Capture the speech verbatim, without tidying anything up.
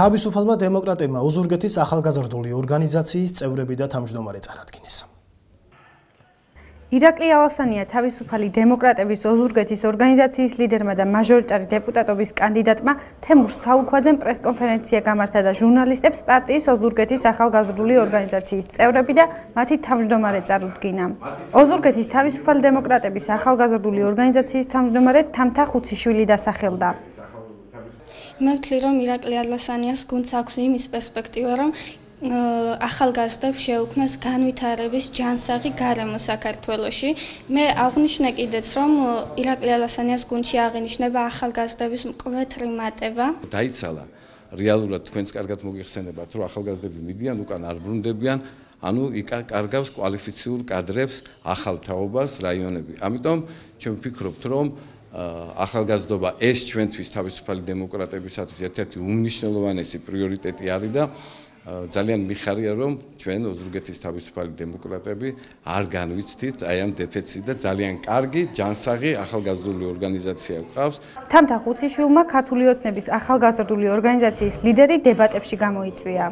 თავისუფალმა დემოკრატებმა ოზურგეთის ახალგაზრდული ორგანიზაციის წევრები და თავმჯდომარე წარადგინეს. ირაკლი ალასანია თავისუფალი დემოკრატების ოზურგეთის ორგანიზაციის ლიდერმა და მაჟორიტარი დეპუტატობის კანდიდატმა თემურ საულქვაძემ პრესკონფერენცია გამართა და ჟურნალისტებს პარტიის ოზურგეთის ახალგაზრდული ორგანიზაციის წევრები და მათი თავმჯდომარე წარუდგინა. ოზურგეთის თავისუფალი დემოკრატების ახალგაზრდული ორგანიზაციის თავმჯდომარე თამთა ხუციშვილი დასახელდა. მე ვთვლი, რომ ირაკლი ალასანიას გუნდს აქვს იმის პერსპექტივა, რომ ახალგაზრდებს შეუქმნას განვითარების ჯანსაღი გარემო საქართველოში. მე აღვნიშნე კიდეც, რომ ირაკლი ალასანიას გუნდში აღინიშნება ახალგაზრდების მკვეთრი მატება. დაიცალა რეალურად თქვენს კარგად მოგიხსენებათ, რომ ახალგაზრდები მიდიან, უკან არ ბრუნდებიან, ანუ იკარგავს კვალიფიციურ კადრებს ახალ თაობას რაიონები. ამიტომ ჩვენ ვფიქრობთ, რომ ახალგაზრდობა ეს ჩვენთვის თავისუფალი დემოკრატებისათვის ერთ-ერთი უმნიშვნელოვანესი პრიორიტეტი არის და ძალიან მიხარია, რომ ჩვენ ოზურგეთის თავისუფალი დემოკრატები არ განვიცდით აი ამ დეფეციტს და ძალიან კარგი, ჯანსაღი ახალგაზრდული ორგანიზაცია გვყავს. თამთა ხუციშვილმა ქართული ოცნების ახალგაზრდული ორგანიზაციის ლიდერი დებატებში გამოიწვია.